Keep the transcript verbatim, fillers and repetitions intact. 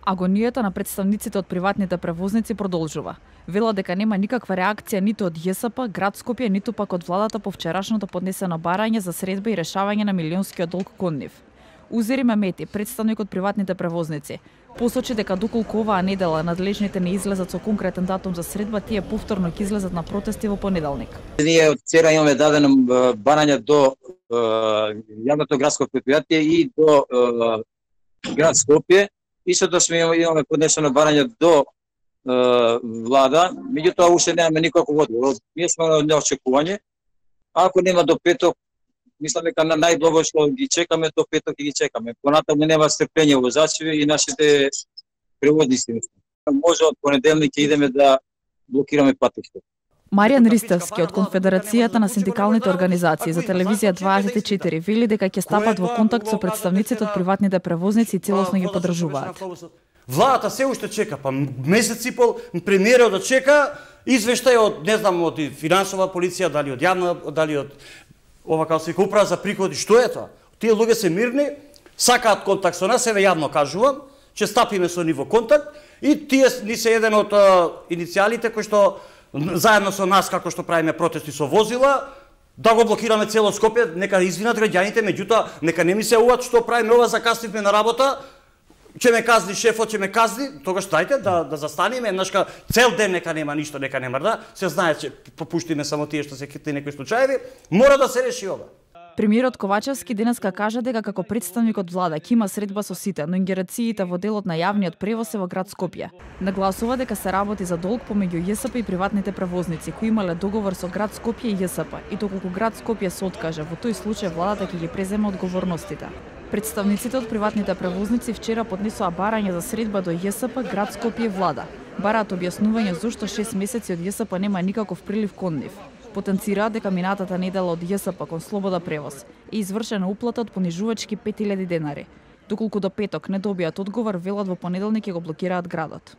Агонијата на представниците од приватните превозници продолжува. Велат дека нема никаква реакција ниту од ЈСП, град Скопје, ниту пак од владата по вчерашното поднесено барање за средба и решавање на милионскиот долг кон нив. Узери Мемети, представник од приватните превозници, посочи дека доколку оваа недела надлежните не излезат со конкретен датум за средба, тие повторно ќе излезат на протести во понеделник. Ние од вчера имаме дадено барање до јавното градско предпријатие и до град Скопје. Истото сме имаме поднесено барање до влада, меѓутоа уште немаме никаков одговор. Ние сме на неочекување. Ако нема до петок, мислам дека на најдобро што ги чекаме до петок и ги чекаме. Понатаму нема стрпење возачи и нашите превозници. Може од понеделник ќе идеме да блокираме патиште. Маријан Ристевски од Конфедерацијата на синдикалните организации за телевизија дваесет и четири вели дека ќе стапат во контакт со представниците од приватните превозници и целосно ги поддржуваат. Владата се уште чека, па месец и пол премиерот да чека извештај од не знам од финансова полиција, дали од јавна, дали од ова како се управа за приходи, што е тоа? Тие луѓе се мирни, сакаат контакт со нас, еве јавно кажувам, ќе стапиме со ниво контакт и тие ни се еден од иницијалите кои што заедно со нас, како што правиме протести со возила, да го блокираме цело Скопје, нека извинат граѓаните, меѓутоа нека не ми се уват што правиме ова, закаснивме на работа, ќе ме казни шефот, ќе ме казни, тогаш дајте да да застанеме, еднашка цел ден нека нема ништо, нека нема да, се знае че попуштиме само тие што се хитни некои случаеви, мора да се реши ова. Премиерот Ковачевски денеска кажа дека како представник од влада ќе има средба со сите, но ингерациите во делот на јавниот превоз е во град Скопје. Нагласува дека се работи за долг помеѓу ЈСП и приватните превозници кои имале договор со град Скопје и ЈСП и доколку град Скопје се откаже, во тој случај владата ќе ги преземе одговорностите. Представниците од приватните превозници вчера поднесоа барање за средба до ЈСП, град Скопје и влада. Бараат објаснување зошто шест месеци од ЈСП нема никаков прилив кон нив. Потенцираат дека минатата недела од ЈСП кон Слобода превоз е извршена уплата од понижувачки пет илјади денари. Доколку до петок не добијат одговор, велат во понеделник ќе го блокираат градот.